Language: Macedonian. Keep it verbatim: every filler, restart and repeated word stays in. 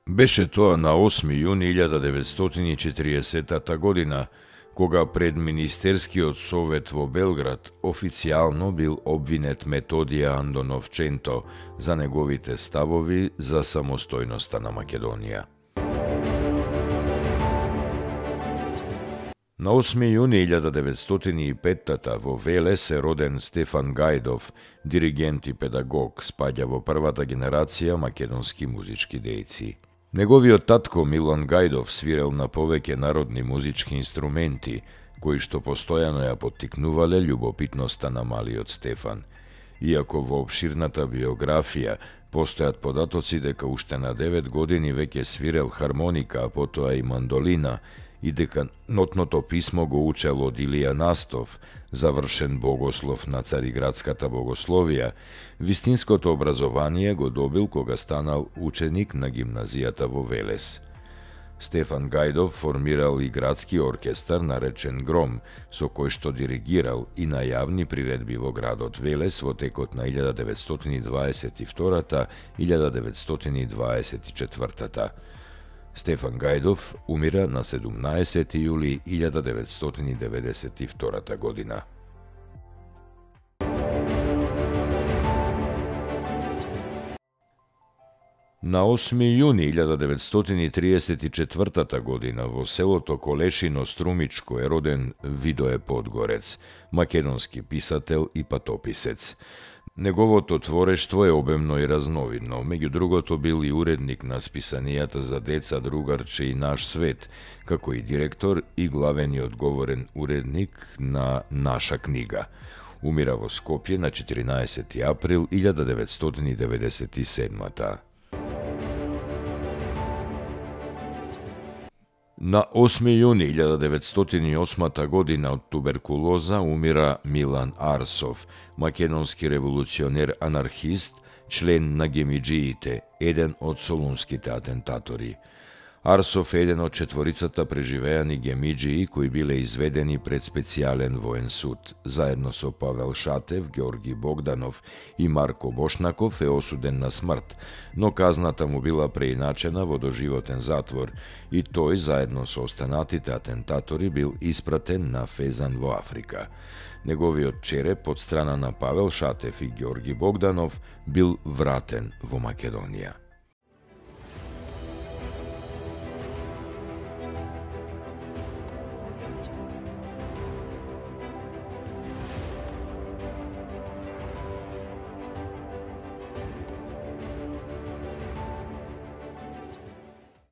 Беше тоа на осми јуни илјада деветстотини и четириесетта година, кога пред Министерскиот совет во Белград официјално бил обвинет Методија Андоновченто за неговите ставови за самостојноста на Македонија. На осми јуни илјада деветстотини и петта во Велес е роден Стефан Гајдов, диригент и педагог, спаѓа во првата генерација македонски музички дејци. Неговиот татко Милан Гајдов свирел на повеќе народни музички инструменти, кои што постојано ја поттикнувале љубопитноста на малиот Стефан. Иако во опширната биографија постојат податоци дека уште на девет години веќе свирел хармоника, а потоа и мандолина, и дека нотното писмо го учел од Илија Настов, завршен богослов на Цариградската богословија, вистинското образование го добил кога станал ученик на гимназијата во Велес. Стефан Гајдов формирал и градски оркестар наречен Гром, со кој што диригирал и на јавни приредби во градот Велес во текот на илјада деветстотини дваесет и втора - илјада деветстотини дваесет и четврта. Стефан Гајдов умира на седумнаесети јули илјада деветстотини деветдесет и втора година. На осми јуни илјада деветстотини триесет и четврта година во селото Колешино Струмичко е роден Видое Подгорец, македонски писател и патописец. Неговото творештво е обемно и разновидно, меѓу другото бил и уредник на списанијата за деца Другарче и Наш свет, како и директор и главениот говорен уредник на Наша книга. Умира во Скопје на четиринаесети април илјада деветстотини деветдесет и седма. На осми јуни илјада деветстотини и осма година од туберкулоза умира Милан Арсов, македонски револуционер-анархист, член на гемиџиите, еден од солунските атентатори. Арсов е еден од четворицата преживеани гемиџии кои биле изведени пред специјален воен суд. Заедно со Павел Шатев, Георги Богданов и Марко Бошнаков е осуден на смрт, но казната му била преиначена во доживотен затвор и тој, заедно со останатите атентатори, бил испратен на Фезан во Африка. Неговиот череп од страна на Павел Шатев и Георги Богданов бил вратен во Македонија.